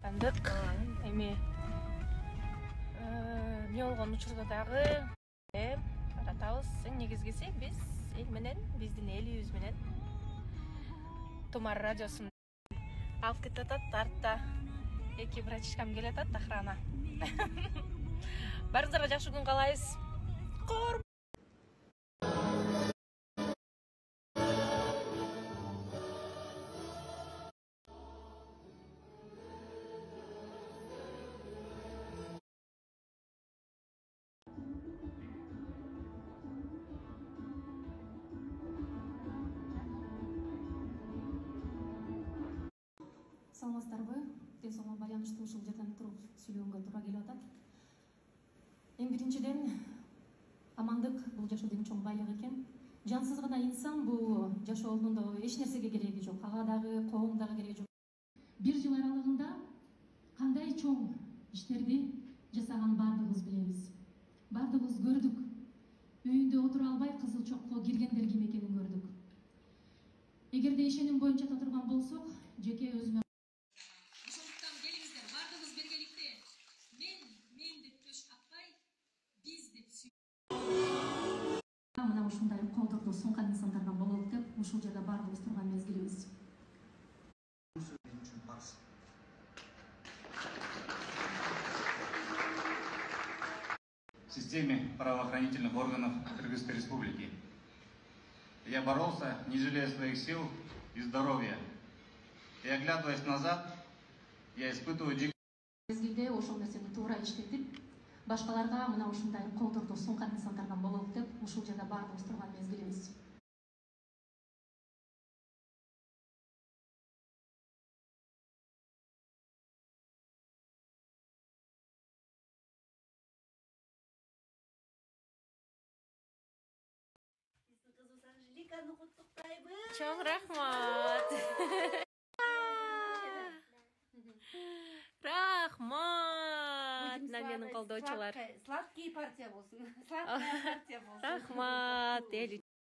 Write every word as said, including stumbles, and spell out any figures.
Тандык. Эми эмне болгон учурда дагы таратабыз. Эң негизгиси биз эл менен, биздин элибиз менен Тумар радиосун алып кетатат. Артта эки братишкам келатат, охрана. Барыңыздарга жакшы күн каалайбыз. Кор Саламатсыздарбы? Ден соолугуна байланыштуу ушул жерден туруп сүйлөгөнгө туура келип атат. Эң биринчиден, амандык бул жашоодун чоң байлык экен. Жансыз гана инсан бул жашоонун да эч нерсеге кереги жок, ага дагы, коом дагы кереги жок. Бир жыл аралыгында кандай чоң иштерди жасаган баардыгыбыз билебиз. Баардыгыбыз көрдүк. Үйүндө отура албай кызыл чокко киргендер ким экенин көрдүк. Эгерде ишеним боюнча турган болсок, жеке өзүмө мен деп төш каппай, биз деп сүй. Мына ушундай колдорду сунган инсандардан бололук деп ушул жерде баардыгыбыз турган мезгилибиз. В системе правоохранительных органов Кыргызской Республики. Я боролся, не жалея своих сил и здоровья. И оглядываясь назад, я испытываю дикую... Мезгилде ошол нерсени туура иштетип, башкаларга мына ушундай колдорду сунган инсандардан бололук деп ушул жерде баардыгыбыз турган мезгилибиз. Биздин кызыбыз Анжеликаны куттуктайбыз. Чоң рахмат. Рахмат. Мына менин колдоочулар. Сладкий партия болсун. Сладкая партия болсун. Рахмат.